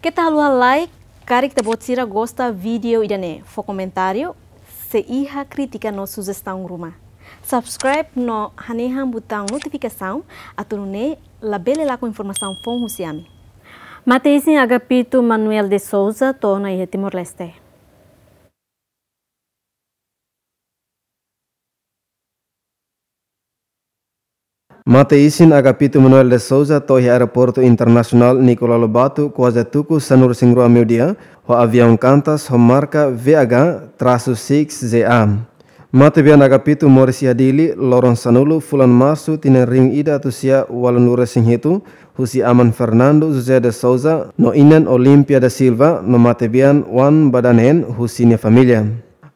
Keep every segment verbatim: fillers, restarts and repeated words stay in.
Keta haluha like, karik ita-boot sira gosta vídeo ida-ne'e, fó komentáriu, sei iha krítika no sujestaun ruma. Subscribe no hanehan butaun notifikasaun, atu nune'e labele lakon informasaun foun husi ami. Mate isin Agapito Manuel de Souza to'o ona iha Timor-Leste. Mate isin Agapito Manuel de Souza to'o iha Aeroportu Internasionál Nicolau Lobato, kuaze tuku sanulu-resin-rua meiudia, ho aviaun Qantas ho marka V H trasu six Z A. Matebian Agapito moris iha Dili, loron sanulu fulan Marsu tinan rihun ida atus sia ualunulu-resin-hitu, husi aman Fernando José de Souza no inan Olímpia da Silva, no matebian oan ba danen husi nia família.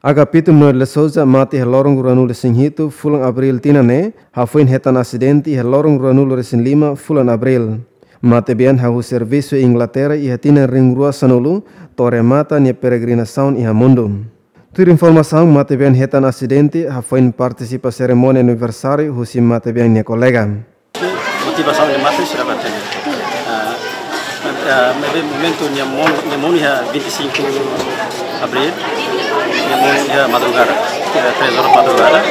Agapito Manuel de Souza mate iha loron ruanulu-resin-hitu fulan Abríl tinan ne'e, hafoin hetan asidente iha loron ruanulu-resin-lima fulan Abríl. Matebian hahú servisu Inglaterra iha tinan rihun rua sanulu, to'o remata nia peregrinasaun iha mundu. Tuir informasaun, matebian hetan asidente hafoin partisipa serimónia aniversáriu husi matebian nia kolega. Motivasaun de mate sira ba tene. Ah, ah, maibé momentu nia monu, nia monu iha vinte e cinco Abril, nia monu iha madrugada, iha três horas madrugada.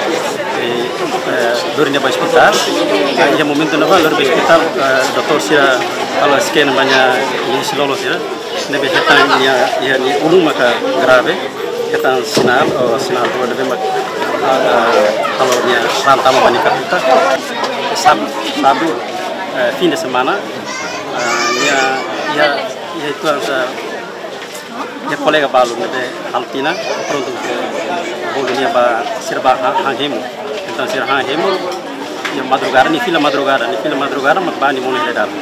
E, eh, lori nia ba ospitál. Ah, iha momentu ne'ebá lori ba ospitál, eh, doutór sira halo scan ba nia, nia isin-lolon sira. Ne'ebé hetan nia, iha nia ulun maka grave, hetan sinál, oh, sinál rua ne'ebé mak, ah, halo nia raan tama ba nia katutak. Sábadu, sábadu, eh, fim de semana, ah, nia, iha, iha uitoan sira, nia kolega balu ne'ebé halo tinan, prontu, bolu nia ba sira ba ha-, han hemu. Entaun sira han hemu, iha madrugada, nia fila madrugada, nia fila madrugada, mak ba nia monu iha dalan.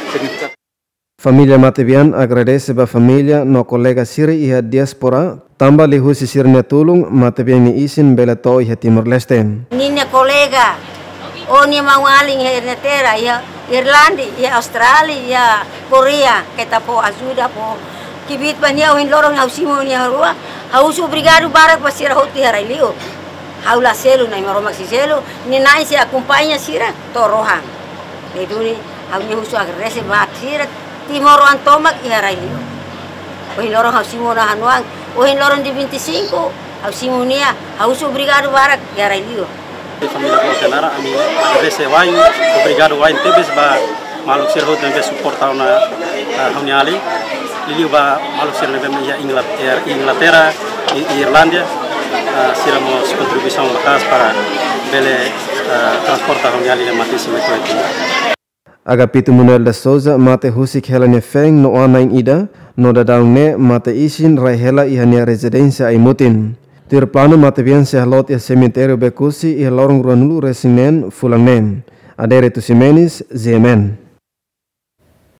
Família matebian agradese ba família no kolega sira iha diáspora, tanba liuhusi sira-nia tulun, matebian nia isin bele to'o iha Timor-Leste. Ninia kolega, ou nia maun-alin iha Inglaterra, iha Irlanda, iha Austrália, iha Koreia, keta fó ajuda, fó kbiit ba nia, ohin loron ha'u simu nia rua, ha'u husu obrigadu barak ba sira hotu iha rai-li'ur. Ha'u la selu, Na'i Maromak sei selu, nia na'in sei akompaña sira to'o rohan. Ne'e duni, ha'u-nia husu agradese ba sira, timoroan tomak iha rai-li'ur. Ohin loron ha'u simu ona ha'u-nia oan, ohin loron dia vinte e cinco, ha'u simu nia, ha'u husu obrigadu barak iha rai-li'ur. Família Boa Kenara, ami agradese wa'in, obrigadu wa'in tebes ba maluk sira hotu ne'ebé suporta ona, ah, ha'u-nia alin. Liuliu ba maluk sira ne'ebé iha Inglaterra, Inglaterra, i, i Irlanda, ah, sira mós kontribuisaun maka'as para bele, ah, transporta ha'u-nia alin ne'ebé mate isin mai to'o iha Timor. Agapito Manuel de Souza mate husik hela nia feen no oan na'in ida, no daudaun ne'e mate isin rai hela iha nia rezidénsia ai-mutin. Tuir planu matebian sei halot iha semitériu Becusi iha loron ruanulu-resin-neen fulan ne'e. Adérito Ximenes, G M N.